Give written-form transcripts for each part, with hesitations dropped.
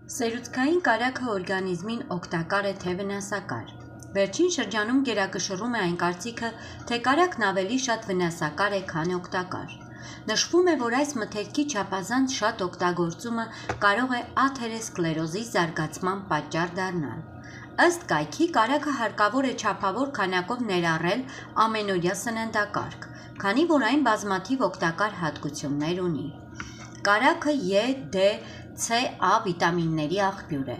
Սերուցքային կարագը օրգանիզմին օգտակար է թե վնասակար։ Վերջին շրջանում գերակշռում է այն կարծիքը, թե կարագն ավելի շատ վնասակար է, քան օգտակար։ Նշվում է, որ այս մթերքի չափազանց շատ օգտագործումը կարող է աթերոսկլերոզի զարգացման պատճառ դառնալ։ Ըստ կայքի, կարագը հարկավոր է չափավոր քանակով ներառել ամենօրյա սննդակարգ, քանի որ այն բազմաթիվ օգտակար հատկություններ ունի։ Կարագը Է, Դ, C, A վիտամինների աղբյուր է։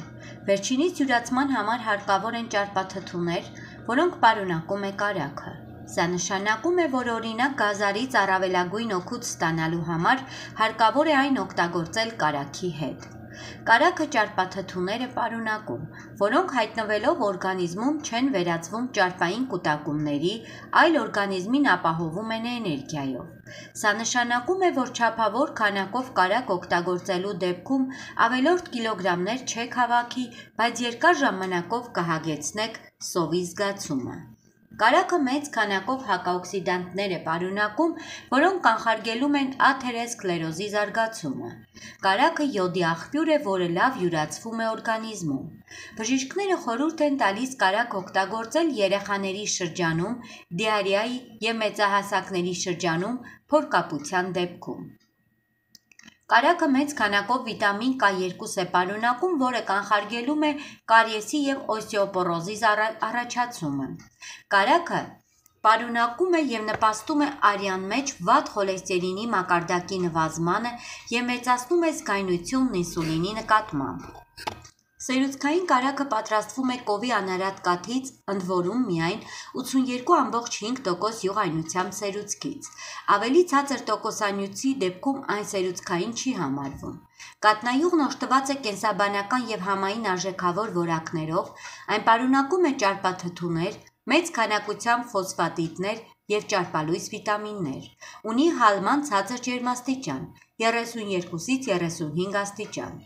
Վերջինիս յուրացման համար հարկավոր են ճարպաթթուներ, որոնք պարունակում է կարագը։ Սա նշանակում է, որ օրինակ գազարից առավելագույն օգուտ ստանալու համար հարկավոր է այն օգտագործել կարագի հետ։ Կարագը ճարպաթթուներ է պարունակում, որոնք հայտնվելով օրգանիզմում չեն վերածվում ճարպային կուտակումների, այլ օրգանիզմին ապահովում են էներգիայով։ Սա նշանակում է, որ չափավոր քանակով կարագ օգտագործելու դեպքում ավելորդ կիլոգրամներ չեք հավաքի, բայց երկար ժամանակով կհագեցնեք սովի զգացումը։ Կարագը մեծ քանակով հակաօքսիդանտներ է պարունակում, որոնք կանխարգելում են աթերոսկլերոզի զարգացումը։ Կարագը յոդի աղբյուր է, որը լավ յուրացվում է օրգանիզմում։ Բժիշկները խորհուրդ են տալիս կարագ օգտագործել երեխաների շրջանում, դիարեայի և մեծահասակների շրջանում փորկապության դեպքում։ Կարագը մեծ քանակով վիտամին K2 է պարունակում, որը կանխարգելում է կարիեսի և օստեոպորոզի առաջացումը։ Կարագը պարունակում է և նպաստում է արյան մեջ վատ խոլեստերինի մակարդակի նվազմանը և մեծացնում է զգայունությունն ինսուլինի նկատմամբ։ Սերուցքային կարագը պատրաստվում է կովի անարատ կաթից, ընդ որում միայն 82,5% յուղայնությամբ սերուցքից։ Ավելի ցածր տոկոսանյութի դեպքում այն սերուցքային չի համարվում։ Կաթնայուղն օժտված է կենսաբանական և համային արժեքավոր որակներով, այն պարունակում է ճարպաթթուներ, մեծ քանակությամբ ֆոսֆատիդներ և ճարպալույս վիտամիններ։ Ունի հալման ցածր ջերմաստիճան՝ 32-ից 35 աստիճան։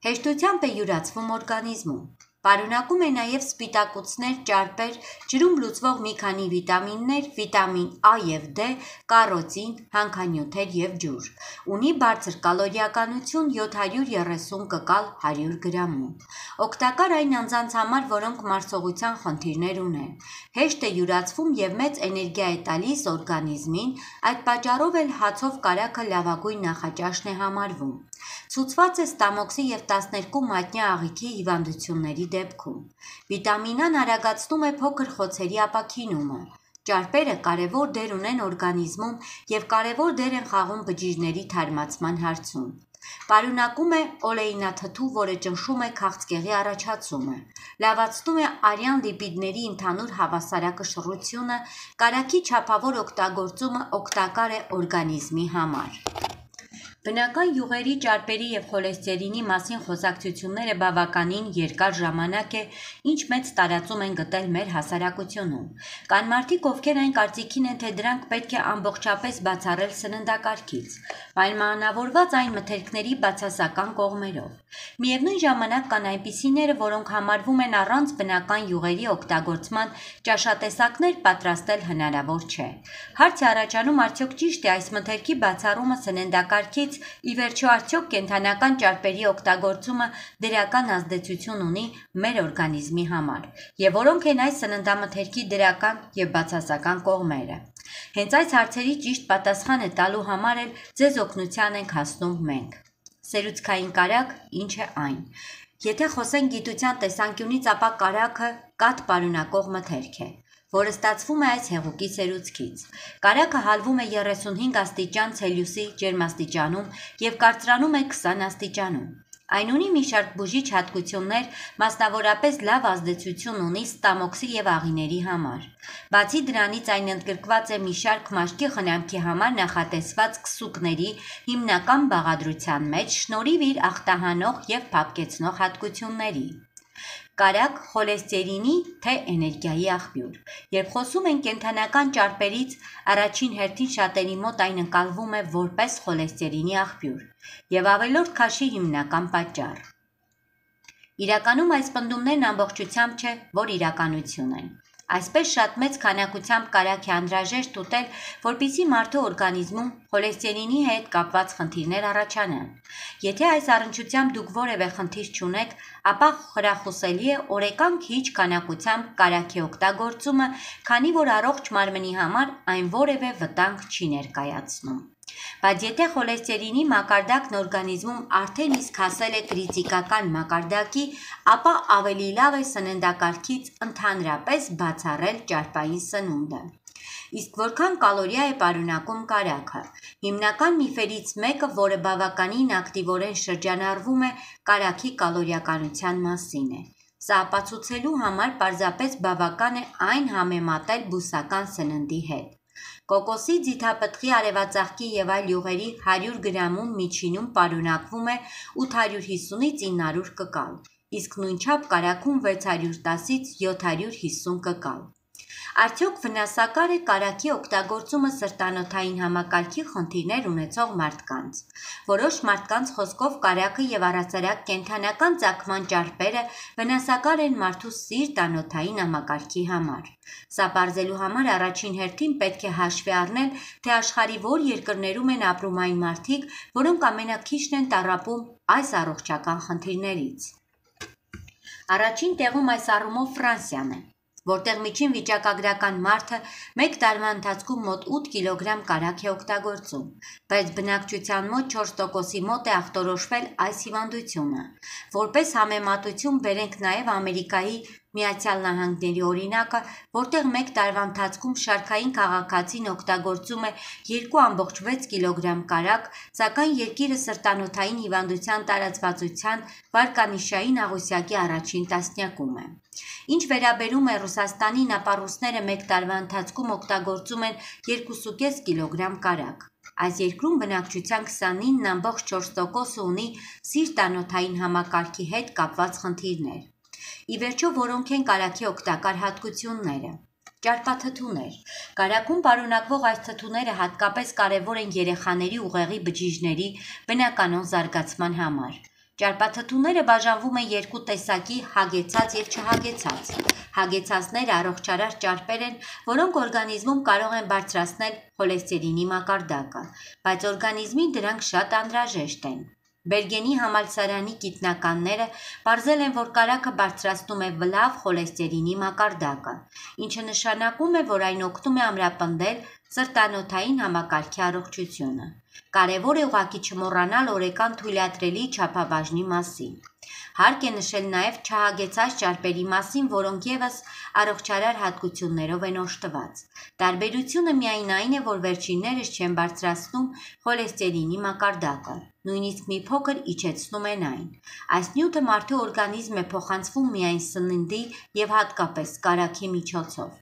Հեշտությամբ է յուրացվում օրգանիզմում։ Պարունակում է նաև սպիտակուցներ, ճարպեր, ջրում լուծվող մի քանի վիտամիններ, վիտամին A և D, կարոտին, հանքանյութեր և ջուր։ Ունի բարձր կալորիականություն՝ 730 կկալ 100 գրամում։ Օգտակար այն անձանց համար, որոնք մարսողության խնդիրներ ունեն։ Հեշտ է յուրացվում և մեծ էներգիա է տալիս օրգանիզմին, այդ պատճառով էլ հացով կարագը լավագույն նախաճաշն է համարվում։ Ցուցված է ստամոքսի և 12 մատնյա աղիքի հիվանդությունների դեպքում։ Վիտամին A-ն արագացնում է փոքր խոցերի ապաքինումը։ Ճարպերը կարևոր դեր ունեն օրգանիզմում և կարևոր դեր են խաղում բջիջների թարմացման հարցում։ Պարունակում է օլեինաթթու, որը ճնշում է քաղցկեղի առաջացումը, լավացնում է արյան լիպիդների ընդհանուր հավասարակշռությունը, կարագի չափավոր օգտագործումը օգտակար է օրգանիզմի համար։ Բնական յուղերի, ճարպերի և խոլեստերինի մասին խոսակցությունները բավականին երկար ժամանակ է, ինչ մեծ տարածում են գտել մեր հասարակությունում։ Կան մարդիկ, ովքեր այն կարծիքին են, թե դրանք պետք է ամբողջապես բացառել սննդակարգից, պայմանավորված այն մթերքների բացասական կողմերով։ Միևնույն ժամանակ կան այնպիսիները, որոնք համարվում են առանց բնական յուղերի օգտագործման ճաշատեսակներ պատրաստել հնարավոր չէ։ Հարց է առաջանում, արդյոք ճիշտ է այս մթերքի բացառումը սննդակարգից, ի վերջո արդյոք կենդանական ճարպերի օգտագործումը դրական ազդեցություն ունի մեր օրգանիզմի համար, և որոնք են այս սննդամթերքի դրական և բացասական կողմերը։ Հենց այս հարցերի ճիշտ պատասխանը տալու համար էլ ձեզ օգնության ենք հասնում մենք։ Սերուցքային կարագ ինչ է այն։ Եթե խոսենք գիտության տեսանկյունից, ապա կարագը կաթ պարունակող մթերք է, որը ստացվում է այս հեղուկի սերուցքից։ Կարագը հալվում է 35 աստիճան Ցելսիուսի ջերմաստիճանում և կարծրանում է 20 աստիճանում։ Այն ունի մի շարք բուժիչ հատկություններ, մասնավորապես լավ ազդեցություն ունի ստամոքսի և աղիների համար։ Բացի դրանից, այն ընդգրկված է մի շարք մաշկի խնամքի համար նախատեսված քսուկների հիմնական բաղադրության մեջ՝ շնորհիվ իր ախտահանող և փափկեցնող հատկությունների։ Կարագ խոլեստերինի թե էներգիայի աղբյուր։ Երբ խոսում ենք կենդանական ճարպերից, առաջին հերթին շատերի մոտ այն ընկալվում է որպես խոլեստերինի աղբյուր և ավելորդ քաշի հիմնական պատճառ։ Իրականում այս պնդումներն ամբողջությամբ չէ, որ իրականություն են։ Այսպես շատ մեծ քանակությամբ կարագ է անհրաժեշտ ուտել, որպեսզի մարդու օրգանիզմում խոլեստերինի հետ կապված խնդիրներ առաջանան։ Եթե այս առնչությամբ դուք որևէ խնդիր չունեք, ապա խրախուսելի է օրեկան քիչ քանակությամբ կարագի օգտագործումը, քանի որ առողջ մարմնի համար այն որևէ վտանգ չի ներկայացնում։ Բայց եթե խոլեստերինի մակարդակն օրգանիզմում արդեն իսկ հասել է կրիտիկական մակարդակի, ապա ավելի լավ է սննդակարգից ընդհանրապես բացառել ճարպային սնունդը։ Իսկ որքան կալորիա է պարունակում կարագը։ Հիմնական միֆերից մեկը, որը բավականին ակտիվորեն շրջանառվում է կարագի կալորիականության մասին է։ Սա ապացուցելու համար պարզապես բավական է այն համեմատել բուսական սննդի հետ։ Կոկոսի, ձիթապտղի, արևածաղկի եւ այլ յուղերի 100 գրամում միջինում պարունակվում է 850-ից 900 կկալ, իսկ նույնչափ կարագում 610-ից 750 կկալ։ Արդյոք վնասակար է կարագի օգտագործումը սրտանոթային համակարգի խնդիրներ ունեցող մարդկանց։ Որոշ մարդկանց խոսքով կարագը եւ առհասարակ կենդանական ծագման ճարպերը վնասակար են մարդու սիրտ-անոթային համակարգի համար։ Սա պարզելու համար առաջին հերթին պետք է հաշվի առնել, թե աշխարհի որ երկրներում են ապրում այն մարդիկ, որոնք ամենաքիչն են տառապում այս առողջական խնդիրներից։ Առաջին տեղում այս առումով Ֆրանսիան է, որտեղ միջին վիճակագրական մարդը մեկ տարվա ընթացքում մոտ 8 կիլոգրամ կարագ է օգտագործում, բայց բնակչության մոտ 4%-ի մոտ է ախտորոշվել այս հիվանդությունը։ Որպես համեմատություն բերենք նաև Ամերիկայի Միացյալ Նահանգների օրինակը, որտեղ մեկ տարվա ընթացքում շարքային քաղաքացին օգտագործում է 2.6 կիլոգրամ կարագ, սակայն երկիրը սրտանոթային հիվանդության տարածվածության վարկանիշային աղյուսակի առաջին տասնյակում է։ Ինչ վերաբերում է Ռուսաստանին, ապա ռուսները մեկ տարվա ընթացքում օգտագործում են 2.5 կիլոգրամ կարագ։ Այս երկրում բնակչության 29.4%-ը ունի սիրտ-անոթային համակարգի հետ կապված խնդիրներ։ Ի վերջո, որոնք են կարագի օգտակար հատկությունները։ Ճարպաթթուներ։ Կարագում պարունակվող այս թթուները հատկապես կարևոր են երեխաների ուղեղի բջիջների բնականոն զարգացման համար։ Ճարպաթթուները բաժանվում են երկու տեսակի՝ հագեցած և չհագեցած։ Հագեցածները առողջարար ճարպեր են, որոնք օրգանիզմում կարող են բարձրացնել խոլեստերինի մակարդակը, բայց օրգանիզմին դրանք շատ անհրաժեշտ են։ Բերգենի համալսարանի գիտնականները պարզել են, որ կարագը բարձրացնում է լավ խոլեստերինի մակարդակը, ինչը նշանակում է, որ այն օգնում է ամրապնդել սրտանոթային համակարգի առողջությունը։ Կարևոր է ուղղակի չմոռանալ օրեկան թույլատրելի չափաբաժնի մասին։ Հարկ է նշել նաև չհագեցած ճարպերի մասին, որոնք ևս առողջարար հատկություններով են օժտված։ Տարբերությունը միայն այն է, որ վերջիններս չեն բարձրացնում խոլեստերինի մակարդակը, նույնիսկ մի փոքր իջեցնում են այն։ Այս նյութը մարդու օրգանիզմ է փոխանցվում միայն սննդի և հատկապես կարագի միջոցով։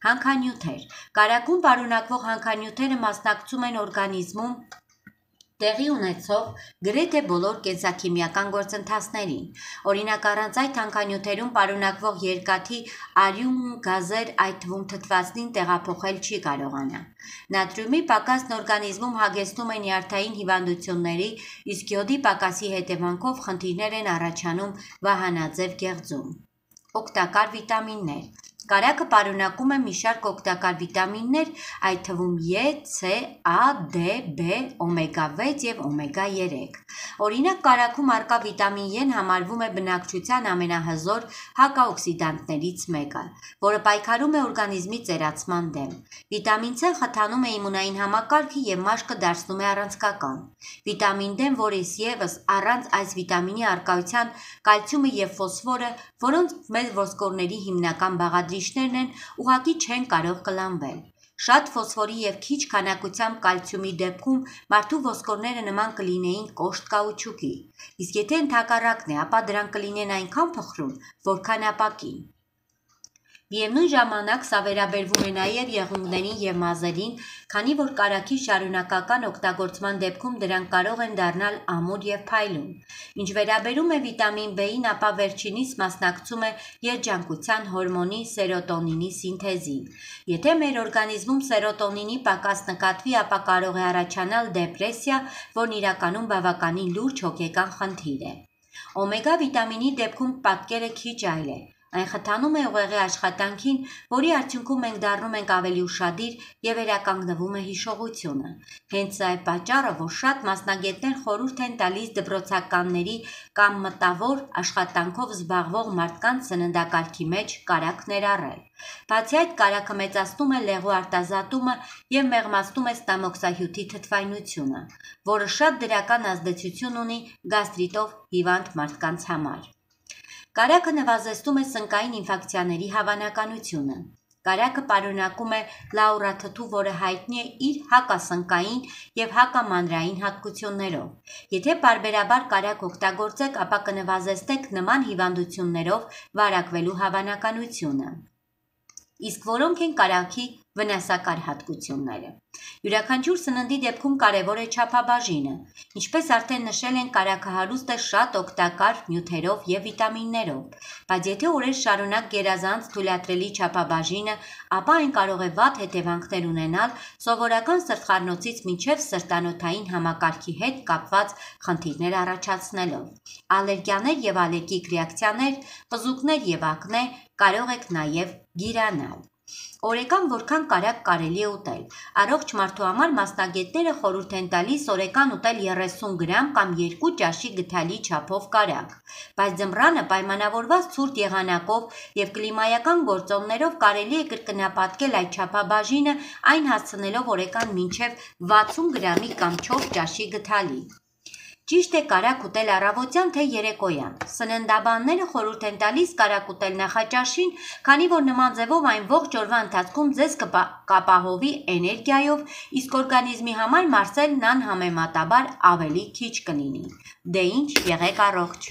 Հանքանյութեր։ Կարագում պարունակվող հանքանյութերը մասնակցում են օրգանիզմում տեղի ունեցող գրեթե բոլոր կենսաքիմիական գործընթացներին։ Օրինակ, առանց այդ հանքանյութերում պարունակվող երկաթի արյուն գազեր, այդ թվում թթվածնին տեղափոխել չի կարողանա։ Նատրիումի պակասն օրգանիզմում հագեցնում է նյարդային հիվանդությունների, իսկ յոդի պակասի հետևանքով խնդիրներ են առաջանում վահանաձև գեղձում։ Օգտակար վիտամիններ։ Կարագը պարունակում է մի շարք օգտակար վիտամիններ, այդ թվում Է, C, A, D, B, օմեգա 6 և օմեգա 3։ Օրինակ, կարագում առկա վիտամին E-ն համարվում է բնակչության ամենահզոր հակաօքսիդանտներից մեկը, որը պայքարում է օրգանիզմի ծերացման դեմ։ Վիտամին C խթանում է իմունային համակարգը և մաշկը դարձնում է առանցքական։ Վիտամին D-ն, որից ևս առանց այս վիտամինի առկայության կալցիումը և ֆոսֆորը, որոնց մեր ոսկորների հիմնական բաղադրիչներն են, ուղղակի չեն կարող կլանվել։ Շատ ֆոսֆորի և քիչ քանակությամբ կալցիումի դեպքում մարդու ոսկորները նման կլինեին կոշտ կաուչուկի, իսկ եթե ընդհակառակն է, ապա դրանք կլինեն այնքան փխրուն, որքան ապակին։ Միևնույն ժամանակ սա վերաբերվում է նաև եղունգներին և մազերին, քանի որ կարագի շարունակական օգտագործման դեպքում դրանք կարող են դառնալ ամուր և փայլուն։ Ինչ վերաբերում է վիտամին B-ին, ապա վերջինիս մասնակցում է երջանկության հորմոնի սերոտոնինի սինթեզին։ Եթե մեր օրգանիզմում սերոտոնինի պակաս նկատվի, ապա կարող է առաջանալ դեպրեսիա, որն իրականում բավականին լուրջ հոգեկան խնդիր է։ Օմեգա վիտամինի դեպքում պատկերը քիչ այլ է։ Այն խթանում է ուղեղի աշխատանքին, որի արդյունքում մենք դառնում ենք ավելի ուշադիր և վերականգնվում է հիշողությունը։ Հենց սա է պատճառը, որ շատ մասնագետներ խորհուրդ են տալիս դպրոցականների կամ մտավոր աշխատանքով զբաղվող մարդկանց սննդակարգի մեջ կարագ ներառել։ Բացի այդ, կարագը մեծացնում է լեղու արտազատումը և մեղմացնում է ստամոքսահյութի թթվայնությունը, որը շատ դրական ազդեցություն ունի գաստրիտով հիվանդ մարդկանց համար։ Կարագը նվազեցնում է սնկային ինֆեկցիաների հավանականությունը։ Կարագը պարունակում է լաուրաթթու, որը հայտնի է իր հակասնկային և հակամանրային հատկություններով։ Եթե պարբերաբար կարագ օգտագործեք, ապա կնվազեցնեք նման հիվանդություններով վարակվելու հավանականությունը։ Իսկ որոնք են կարագի վնասակար հատկությունները։ Յուրաքանչյուր սննդի դեպքում կարևոր է չափաբաժինը։ Ինչպես արդեն նշել ենք, կարագը հարուստ է շատ օգտակար նյութերով և վիտամիններով, բայց եթե օրեր շարունակ գերազանց թույլատրելի չափաբաժինը, ապա այն կարող է վատ հետևանքներ ունենալ սովորական սրտխառնոցից մինչև սրտանոթային համակարգի հետ կապված խնդիրներ առաջացնելով։ Ալերգիաներ և ալերգիկ ռեակցիաներ, պզուկներ և ակնե կարող եք նաև գիրանալ։ Օրեկան որքան կարագ կարելի է ուտել։ Առողջ մարդու համար մասնագետները խորհուրդ են տալիս օրեկան ուտել 30 գրամ կամ 2 ճաշի գդալի չափով կարագ, բայց ձմռանը պայմանավորված ցուրտ եղանակով և կլիմայական գործոններով կարելի է կրկնապատկել այդ չափաբաժինը, այն հասցնելով օրեկան մինչև 60 գրամի կամ 4 ճաշի գդալի։ Ճիշտ է կարագ ուտել առավոտյան թե երեկոյան։ Սննդաբանները խորհուրդ են տալիս կարագ ուտել նախաճաշին, քանի որ նման ձևով այն ողջ օրվա ընթացքում ձեզ կապահովի էներգիայով, իսկ օրգանիզմի համար մարսելն անհամեմատաբար ավելի քիչ կլինի։ Դե ինչ, եղեք առողջ։